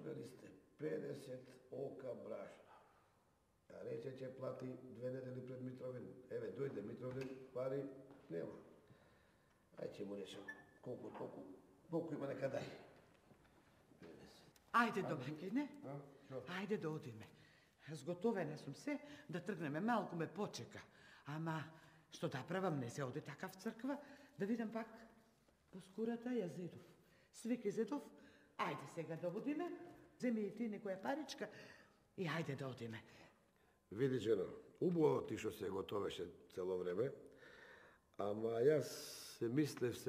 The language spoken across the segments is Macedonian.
Беристе 50 ока брашна. А рече ќе плати 2 недели пред Митровен. Еве, дојде Митровен, пари нема. Ај ќе му речем колку има нека дај. 50. Ајде, Домаќине. Ајде да одиме. Зготовена сум се да тргнеме, малку ме почека. Ама, што да правам, не се оди така в црква, да видам пак по скурата ја Зедов. Свеки Зедов, ајде сега да одиме, земи и ти некоја паричка и ајде да одиме. Види, жено, убаво ти што се готовеше цело време, ама јас се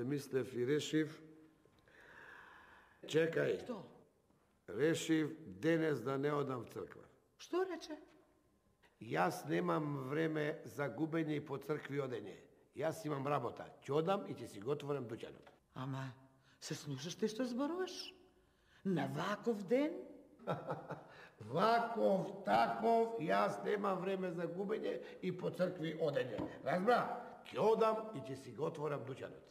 мислев и решив. Чекај. Што? Решив денес да не одам в црква. Што рече? Јас немам време за губење и по цркви одење. Јас имам работа. Ќе одам и ќе си го отворам дуќанот. Ама, се слушаш ти што зборуваш? На ваков ден? Ваков, таков, јас немам време за губење и по цркви одење. Разбра? Ќе одам и ќе си го отворам дуќанот.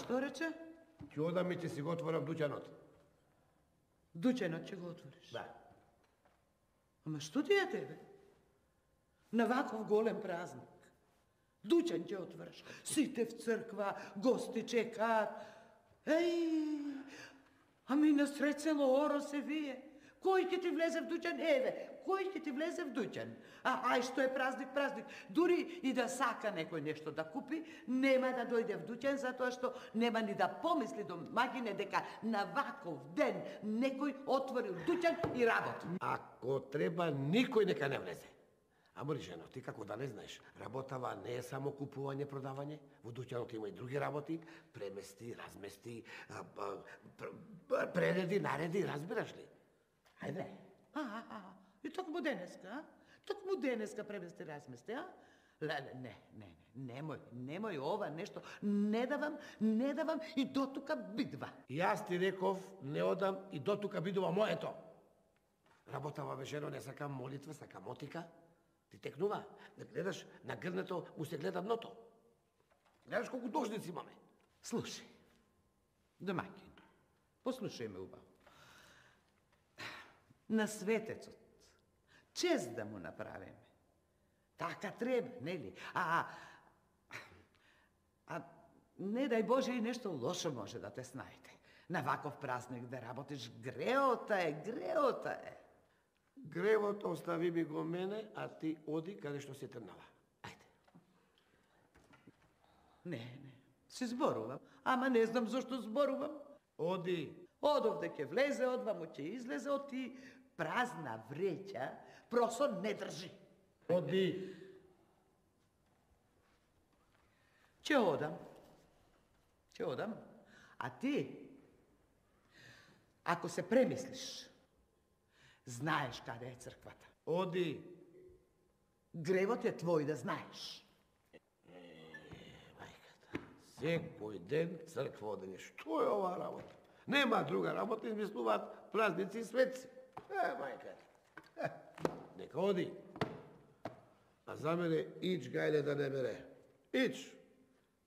Што рече? Ќе одам и ќе си го отворам дуќанот. Дуќанот ќе го отвориш? Да. Ама што ти е тебе? На ваков голем празник. Дуќан ќе отвориш. Сите в црква, гости чекаат. Еј, ами на сред село оро се вие. Кој ќе ти влезе в дуќан? Еве, кој ќе ти влезе в дуќан? Ај што е празник. Дури и да сака некој нешто да купи, нема да дојде в дуќан, затоа што нема ни да помисли домаќине дека на ваков ден некој отворил дуќан и работи. Ако треба, никој нека не влезе. Ама, жено, ти како да не знаеш, работава не е само купување, продавање, во дуќанот има и други работи, премести, размести, пререди, нареди, разбираш ли? Ајде. И токму денеска, Токму денеска премести, размести, а? Немој ова нешто, не давам и дотука бидва. Јас ти реков, не одам и дотука бидува моето. Работава, бе, жено, не сакам молитва, сакам мотика. Ти текнува, да гледаш на грнето, му се гледа дното. Гледаш колку должници имаме. Слушај, домаќин, послушај ме убаво. На светецот, чест да му направиме. Така треба, нели? Не дај Боже и нешто лошо може да те снајде. На ваков празник да работиш, греота е. Гревото остави ми го мене, а ти оди каде што се трнава. Ајде. Не, се зборувам, ама не знам зашто зборувам. Оди. Одовде ќе влезе, одваму ќе излезе, од ти празна вреќа, просо не држи. Оди. Ќе одам, а ти, ако се премислиш, знаеш каде е црквата. Оди. Гревот е твој да знаеш. Мајката, секој ден црква одење. Што е ова работа? Нема друга работа, измислуваат празници и светци. Мајката. Нека оди. А за мене ич гајле да не бере. Ич.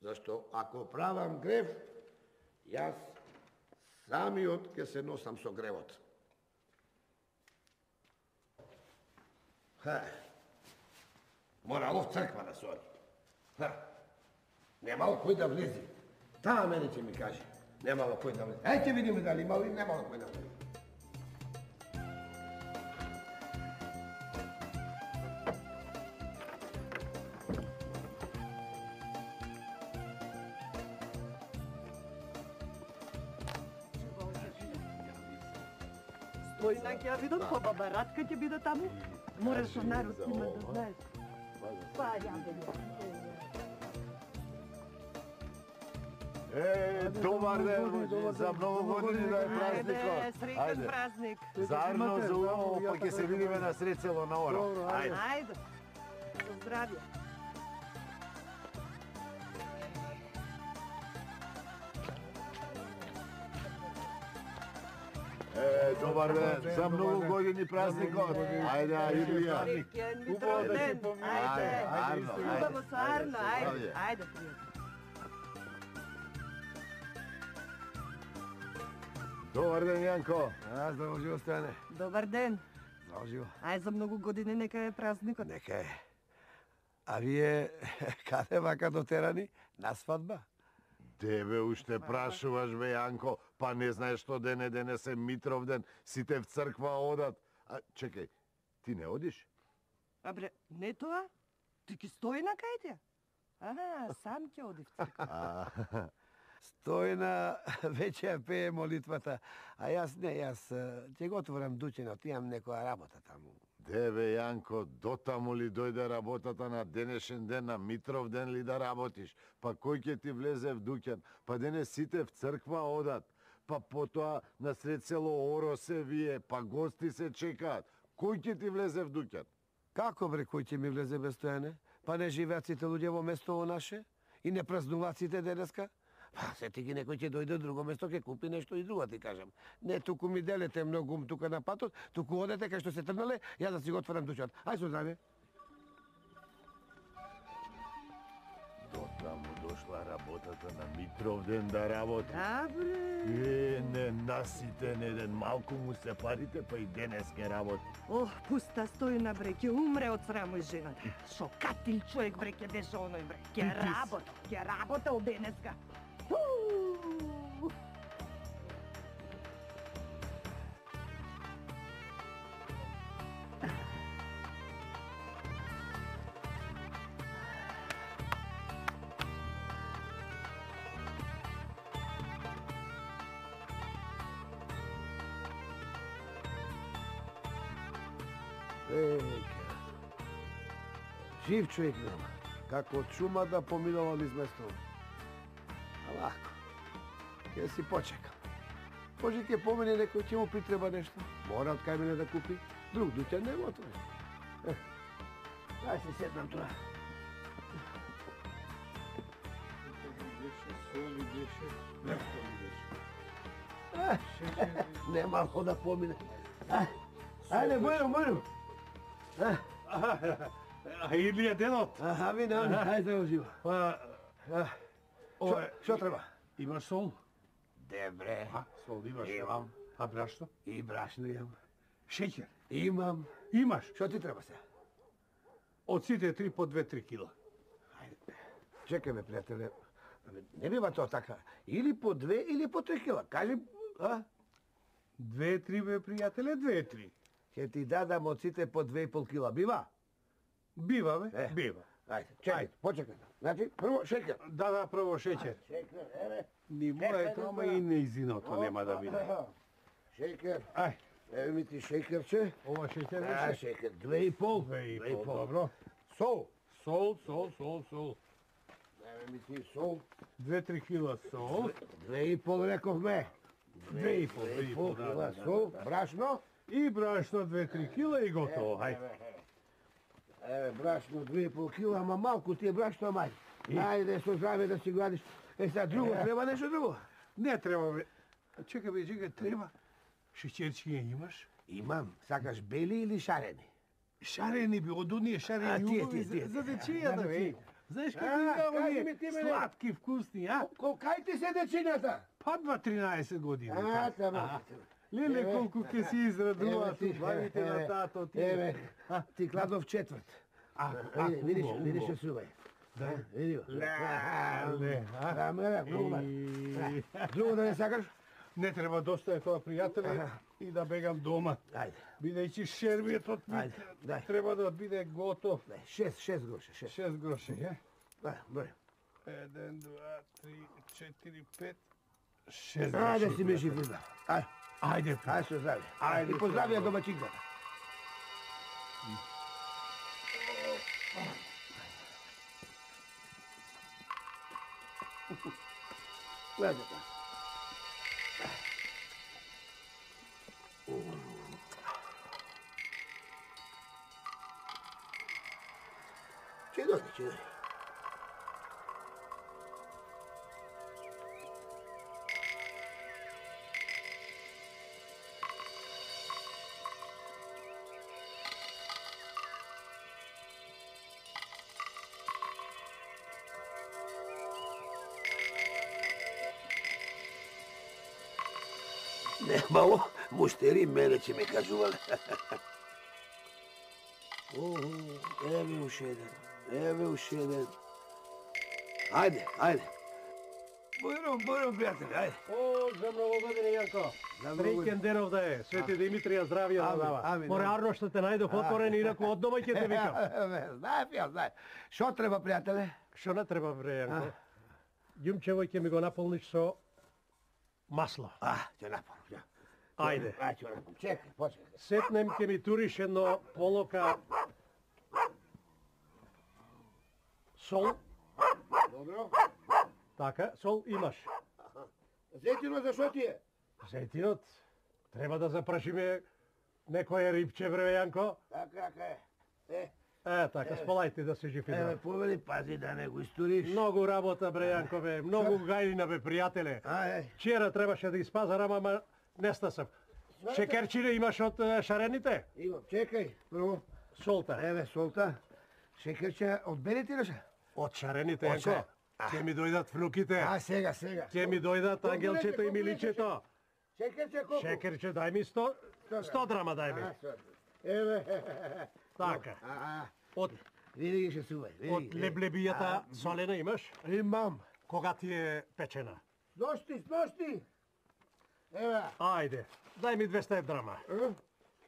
Зашто ако правам грев, јас самиот ќе се носам со гревот. Морало в црква да се оди. Немало кој да влези. Таа мене ќе ми каже. Немало кој да влези. Ајде видиме дали имало или немало кој да влези. Стојна ќе ја видат, по баба Радка ќе биде таму. Мораш со народ има да знаеш. Па, ја бе. Добар ден, моје, за многу години да е празникот. Среќен празник. Заедно за убаво, па ќе се видиме на сред село на Оро. Ајде. Ајде. Со здравје. Добар ден, за многу години празникот. Ајде, Илија. Среќен ден. Ајде. Арно, Убаво со Арно, ајде. Ајде. Ајде, пријатно. Добар ден, Јанко. Здраво живо, Стојане. Добар ден. Здраво живо. Ај за многу години нека е празникот. Нека е. А вие каде вака дотерани? На свадба? Тебе уште прашуваш, бе, Јанко, па не знаеш што денес е Митров ден, сите в црква одат. А, чекај, ти не одиш? А бре, не тоа? Ти ки стои на кај Ага, сам ќе оди в црква. Стојна веќе ја пее молитвата, а јас не, јас ќе го отворам дуќенот, имам некоја работа таму. Деве, Јанко, дотаму ли дојде работата на денешен ден, на Митров ден ли да работиш? Па кој ќе ти влезе в дуќан? Па денес сите в црква одат. Па потоа на сред село Оро се вие, па гости се чекаат. Кој ќе ти влезе в дуќан? Како бре, кој ќе ми влезе без Стојане? Па не живеат сите луѓе во местово наше? И не празнуваат сите денеска? Па, сети ги некој ќе дојде од друго место, ќе купи нешто и друго, ти кажам. Не, туку ми делете многу тука на патот, туку одете кај што се трнале, ја да си го отворам дуќан. Ај со здравје. Дотаму дошла работата на Митров ден да работи. Да, бре. Не, наситен еден, малку му се парите, па и денес ке работи. Ох, пуста Стојна, бре, ќе умре од срамо и жената. Шо катил човек, бре, ќе беше оној, бре. Ќе работа од денеска. Жив човек нема. Како од шума да поминува низ местото. А лако. Ќе си почекам. Може ќе помине некој, ќе му притреба нешто. Мора од кај мене да купи. Друг дуќан не го отвори. Дај се седнам туа. Нема ко да помине. Ајде, Бојно. А Илија денот? Аха, вине, ајде да живо. Што треба? Имаш сол? Добре. Сол имаш? Имам. А брашно? И брашно имам. Шеќер? Имам. Имаш? Што ти треба се? Од сите 3 по 2-3 кила. Ајде. Чекај ме, пријателе. Не бива тоа така. Или по 2 или по 3 кила. Кажи, а? 2-3 бе, пријателе, 2-3. Ќе ти дадам од сите по 2,5 кила. Бива? Бива, бе, бива. Ајде, чекај, почекај. Значи, прво шеќер. Да, прво шеќер. Шеќер, еве. Ни моето, ама и неизиното нема да биде. Шеќер. Ај, Еве ми ти шеќерче. ова шеќер А, беше? шеќер, 2,5. 2,5, добро. Сол. Сол. Еве ми ти сол. 2-3 кила сол. 2,5 рековме. 2,5 кила сол. Брашно. И брашно 2-3 кила и готово. Ајде. Еве, брашно 2,5 кила, ама малку ти е брашно, мај. Ајде, со здраве да си гладиш. Сега друго, треба нешто друго? Не треба, бе. Чекај, треба. Шеќерчиња имаш? Имам. Сакаш бели или шарени? Шарени би, од оние шарени тие, убави тие. за дечијата, бе. Знаеш како кажи има ми ти, оние мене. сладки, вкусни, а? Кај ти се дечината? Па 13 години. Тамо. Леле, колку ќе си израдуваат ти, убавите на тато ти. Еве, ти кладов четврт. Видиш, се сувај. Да. Види го. Леле, а? Друго да не сакаш? Не треба доста е тоа, пријателе, и да бегам дома. Ајде. Бидејќи шербиетот ми Ајде, дај. треба да биде готов. 6 гроша, 6. 6 гроши, е? Да, број. 1, 2, 3, 4, 5, 6 гроши. Ајде си ме жив и здрав. Ајде. Ајде, Ајде со здравје. Ајде, И поздравија домаќинката. Гледате. Чудо. Немало муштери мене ќе ме кажувале. Еве уште еден. Ајде. Бојром, пријатели, ајде. О, за многу години, Јанко. Среќен денов да е. Свети Димитрија здравје да дава. Амин. Морарно што те најдох отворен, инаку од дома ќе те викам. Знаев. Шо треба, пријателе? Што не треба, бре, Јанко? Ѓумчево ќе ми го наполниш со масло. Ќе наполнам. Ајде. Ќе наполнам. Чекај, почекај. Сетнем ќе ми туриш едно полока сол. Добро. Така, сол имаш. Зетино за шо ти е? Зетинот, треба да запрашиме некоја рибче, бре, Јанко. Така е. Така, сполајте да се жив и Еве, здрав. повели, пази да не го историш. Многу работа, бре, Јанко, бе. Многу гајлина, бе, пријателе. Вчера требаше да испазарам, ама не стасам. Шекерчине имаш од шарените? Имам, чекај, прво. Солта. Еве, солта. Шекерче од белите или ше? Од шарените, Од Јанко. ше? Ќе ми дојдат внуките. Сега. Ќе ми дојдат ангелчето и миличето. Шекерче колку? Шекерче, дај ми 100 драма, дај ми. Еве. Така. Од Види ги ше сувај. од леблебијата солена имаш? Имам. Кога ти е печена? Сношти. Еве. Ајде, дај ми 200 драма.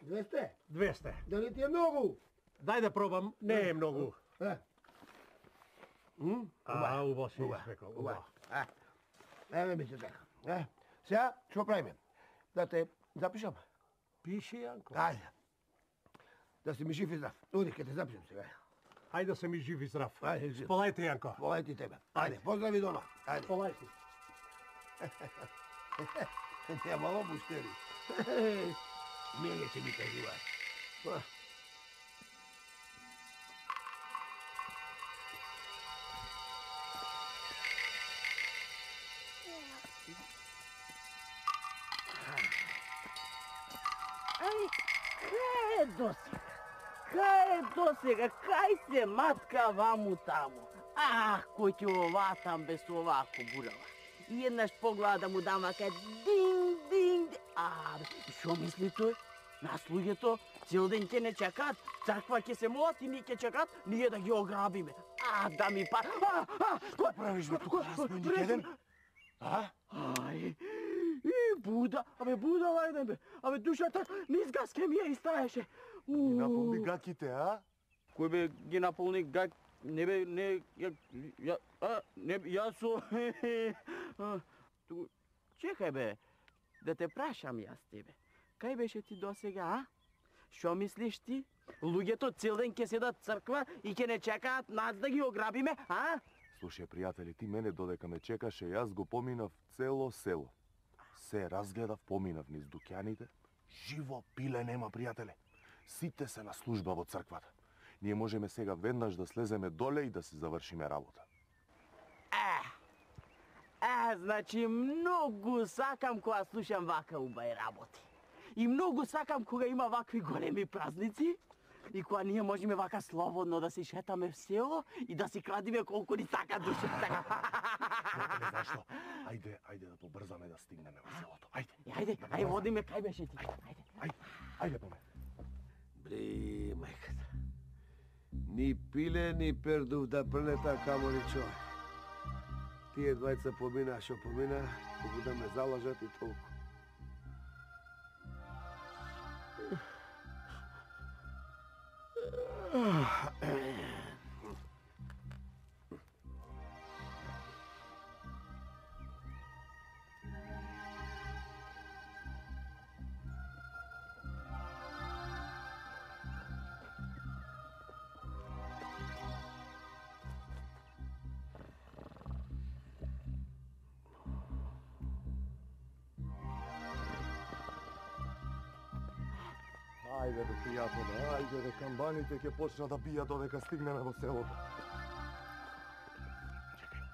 200? 200. Дали ти е многу? Дај да пробам, не е многу. Убаво си испекал. Убаво. Еве ми се така. Сега, што правиме? Да те запишам? Пиши, Јанко. Ајде. Да си ми жив и здрав. Оди, ке те запишам сега. Ајде да се ми жив и здрав. Ајде, жив. Сполајте, Јанко. Волај ти тебе. Ајде, поздрави дома. Ајде. Сполајте. Немало муштери. Мене ќе ми кажуваат. Кај е досега? Кај се матка ваму таму? Кој ќе оватам без овако бурава? И еднаш погледа да му дам вака динг. Шо мисли тој? Нас луѓето цел ден ќе не чекаат, црква ќе се молат и ние ќе чекаат, ние да ги ограбиме. Да ми па... Што правиш бе тука, разбойник еден? Буда, будала еден бе. Душата низ гаske ми ја истаеше. Ги наполни гаките, а? Кој бе ги наполни гак? Не бе, не, јас со... Чекај бе, да те прашам јас тебе. Кај беше ти досега, Шо мислиш ти? Луѓето цел ден ќе седат црква и ќе не чекаат нас да ги ограбиме, Слушај, пријатели, ти мене додека ме чекаше, јас го поминав цело село. Се разгледав, поминав низ дуќаните. Живо пиле нема, пријателе. Сите се на служба во црквата. Ние можеме сега веднаш да слеземе доле и да се завршиме работа. Значи многу сакам кога слушам вака убави работи. И многу сакам кога има вакви големи празници и кога ние можеме вака слободно да се шетаме в село и да си крадиме колку ни сака душата. Зашто? Ајде да побрзаме да стигнеме во селото. Ајде, водиме кај беше ти. Ајде по ме. Бри, мајката. Ни пиле, ни пердув да прелета камори човек. Тие двајца помина, шо помина, колку да ме залажат и толку. Ајде бе, пријателе, ајде бе, камбаните ќе почнат да бијат додека стигнеме во селото. Чекај.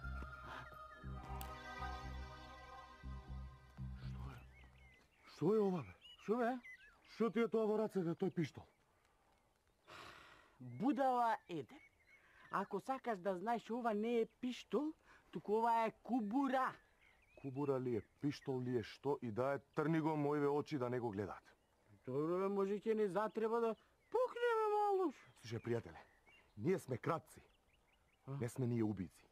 Што е ова бе? Шо бе? Што ти е тоа во рацете, тој пиштол? Будала еден. Ако сакаш да знаеш, ова не е пиштол, туку ова е кубура. Кубура ли е, пиштол ли е, што и да е, трни го моите очи да не го гледаат. Добро, може ќе не затреба да пукнеме малуш. Слушај, пријателе, ние сме кратци. Не сме ние убици.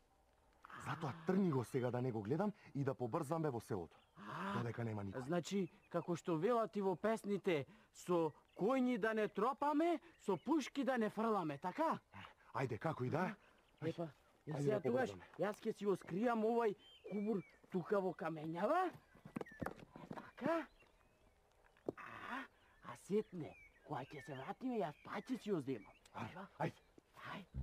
Затоа трни го сега да не го гледам и да побрзаме во селото. Додека нема никој. Значи, како што велат и во песните, со коњи да не тропаме, со пушки да не фрламе, така? Ајде, како и да е. Епа, и Ајде сега да тогаш, побрзаме. јас ќе си го скријам овај кубур тука во камењава. Така? А сетне, кога ќе се вратиме, јас пак ќе си ја земам. Ајде. Ајде.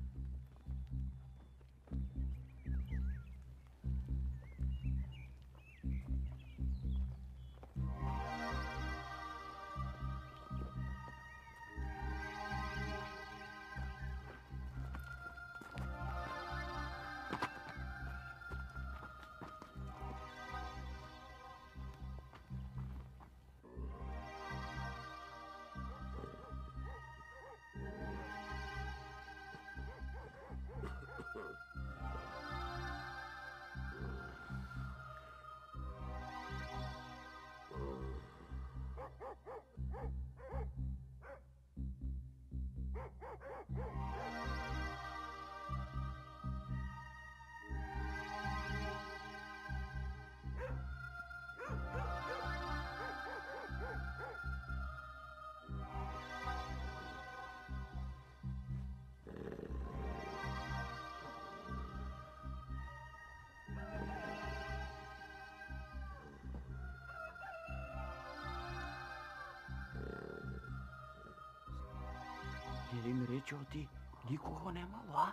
Нели ми речео ти, никого немало, а?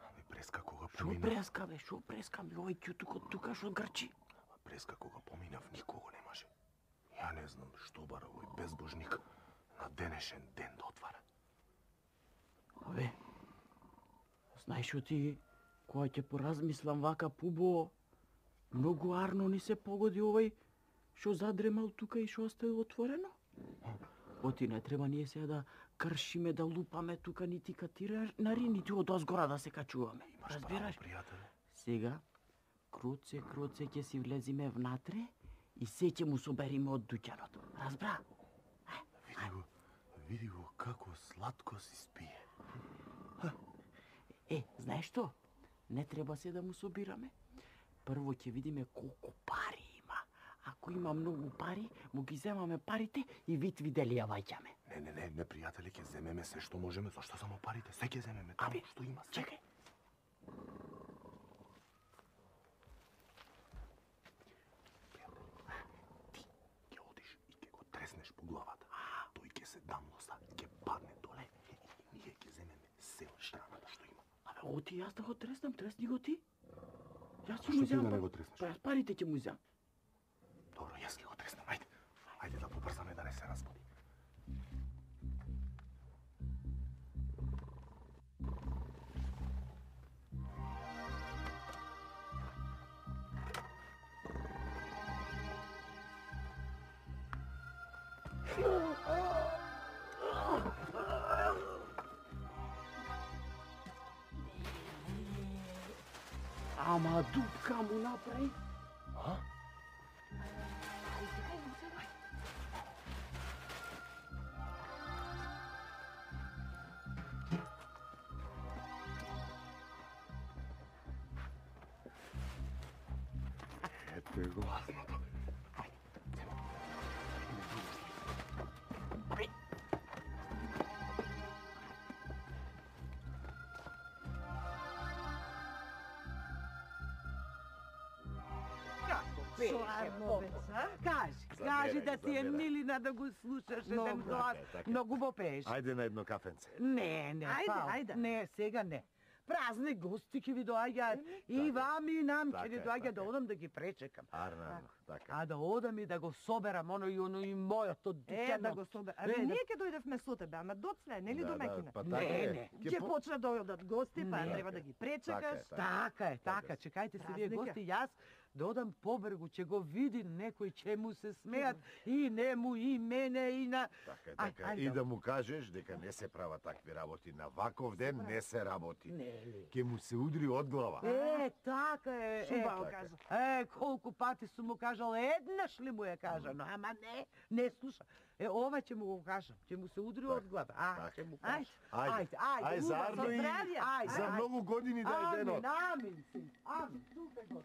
Ами преска кога Шо поминав. преска, бе, шо преска ми овој ќутук од тука шо грчи? Преска кога поминав, никого немаше. Ја не знам што бара овој безбожник на денешен ден да отвара. Абе, знаеш што ти, кога ќе поразмислам вака пубо, многу арно ни се погоди овој шо задремал тука и шо оставил отворено. Оти не треба ние сега да кршиме, да лупаме тука нити катирари, нити од озгора да се качуваме. Имаш Разбираш? право, пријателе. Сега, круце ќе си влезиме внатре и се ќе му собериме од дуќанот. Разбра? Види го како сладко си спие. Знаеш што? Не треба се да му собираме. Прво ќе видиме колку пари има. Ако има многу пари, му ги земаме парите и вид видели ја ваѓаме. Не, пријателе, ќе земеме се што можеме, зашто само парите? Се ќе земеме, таму што има се. Чекај. Ти ќе одиш и ќе го треснеш по главата. Тој ќе се дамноса, ќе падне доле и ние ќе земеме се од штраната што има. Абе, оти јас да го треснам, тресни го ти. Јас Што ќе му ти да земам. не го треснеш? Па јас парите ќе му земам. Добро, јас ќе го треснам, ајде. Ајде да побрзаме да не се разбуди. Ама дупка му направи. Ете го. Славно, беца. Кажи да ти е милина да го слушаш еден глас. Многу бо пееш. Ајде на едно кафенце. Не, Ајде, фал. ајде. Не, сега не. празни гости ќе ви доаѓаат. И вам и нам ќе ни доаѓа да одам да ги пречекам. Арнано, така. А да одам и да го соберам оно и мојото дитјано. Да го соберам. Абе, ние ќе дојдевме со тебе, ама доцле, нели до Мекина? Па така е. Ќе почна да дојдат гости, па треба да ги пречекаш. Така, чекајте се вие гости, јас да одам по брегу, ќе го види некој, ќе му се смеат и нему, и мене, и на... Така, и да му кажеш дека не се прават такви работи. На ваков ден не се работи. Ке му се удри од глава. Така е. Шубаво кажа. Колку пати сум му кажал, еднаш ли му е кажано, ама не слуша. Ова ќе му го кажам, ќе му се удри од глава. Ќе му кажам. Ајде, заедно и за многу години да е денот. Амин, син, амин, тука го.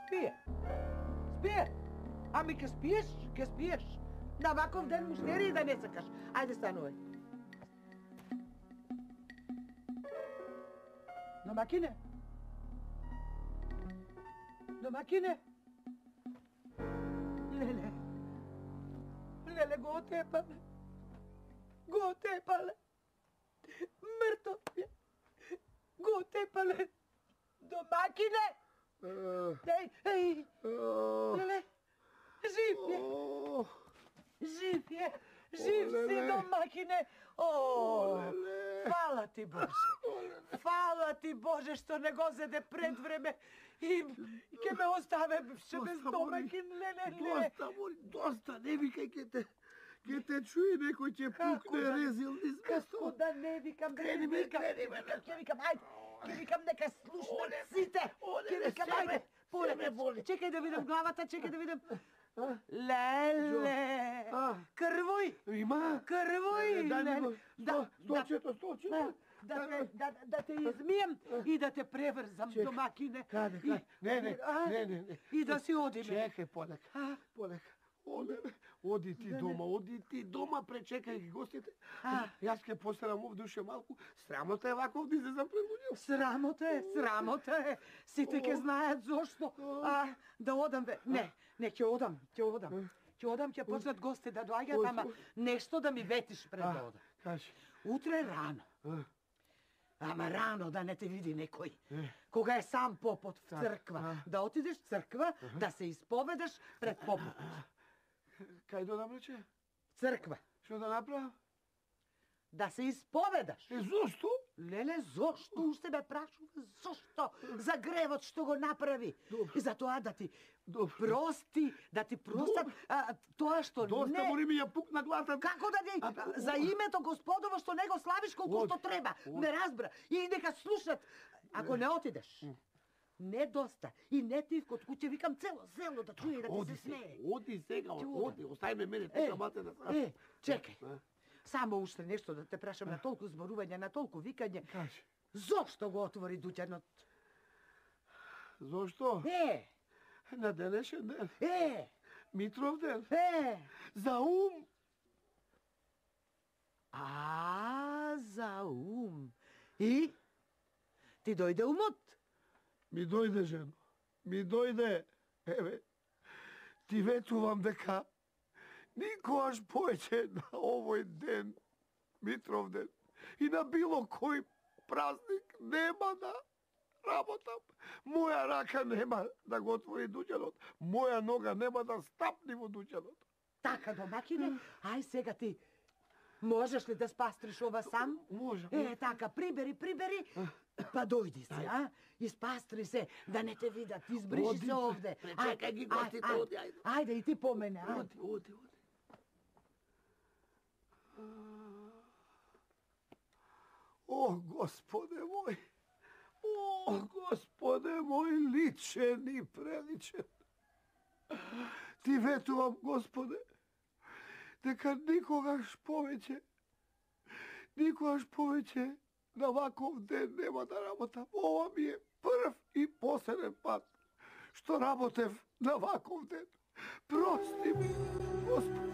Спие. Ами ке спиеш. На ваков ден муштери и да не сакаш. Ајде станувај. Домакине. Леле, го отепале. Мртов е. Го отепале. Домакине. Еј. Леле. Жив е. Жив си, домакине. Фала ти Боже. Фала ти Боже што не го зеде пред време и ќе ме оставе без домакин. Леле. Доста, не викај, ќе те чуе некој ќе пукне резил низ место. Како да не викам, ќе викам, ајде. Ќе викам нека слушнат сите. Ќе викам, ајде. Поле. Чекај да видам главата, чекај да видам. Леле. Крвој. Има? Крвој. Дај ми го. Столчето. Да те измием и да те преврзам, домакине. Каде? Не. И да си одиме. Чекај, полека. Оди ти дома, пречекај ги гостите. Јас ќе посерам овдуше малку. Срамота е вако овде излезам пред луѓе. Срамота е. Сите ќе знаат зошто. Да одам ве. Не, ќе одам. Ќе почнат гости да доаѓаат, ама нешто да ми ветиш пред да одам. Кажи. Утре рано. Ама рано да не те види некој. Кога е сам попот в црква. Да отидеш в црква, да се исповедаш пред попот. Кај додам рече? Црква. Што да направам? Да се исповедаш. Зошто? Леле, зошто? Уште ме прашува зошто? За гревот што го направи. И за тоа да ти прости, да ти простат тоа што Доста мори ми ја пукна главата. Како да ти за името Господово што не го славиш колку што треба. Не разбра. И нека слушат. Ако не отидеш. Не доста. И не ти код куќе викам цело село да чуе и да ти се смее. Оди сега, остави ме тука мате да сам. Чекај. Само уште нешто да те прашам на толку зборување, на толку викање. Кажи. Зошто го отвори дуќанот? Зошто? На денешен ден. Митров ден. За ум. За ум. И? Ти дојде умот? Ми дојде, жено. Ми дојде. Еве, ти ветувам дека никогаш повеќе на овој ден, Митров ден, и на било кој празник нема да работам. Моја рака нема да го отвори дуќанот. Моја нога нема да стапни во дуќанот. Така, домакине, ај сега ти можеш ли да спастриш ова сам? Можам. Така, прибери, па дојди се, Испастри се, да не те видат, избриши се овде. Пречекај ги гостите, оди, ајде. Ајде и ти по мене, Оди. О, Господе мој, личен и преличен. Ти ветувам, Господе, дека никогаш повеќе на ваков ден нема да работам. Ова ми е прв и последен пат што работев на ваков ден. Прости ми, Господи.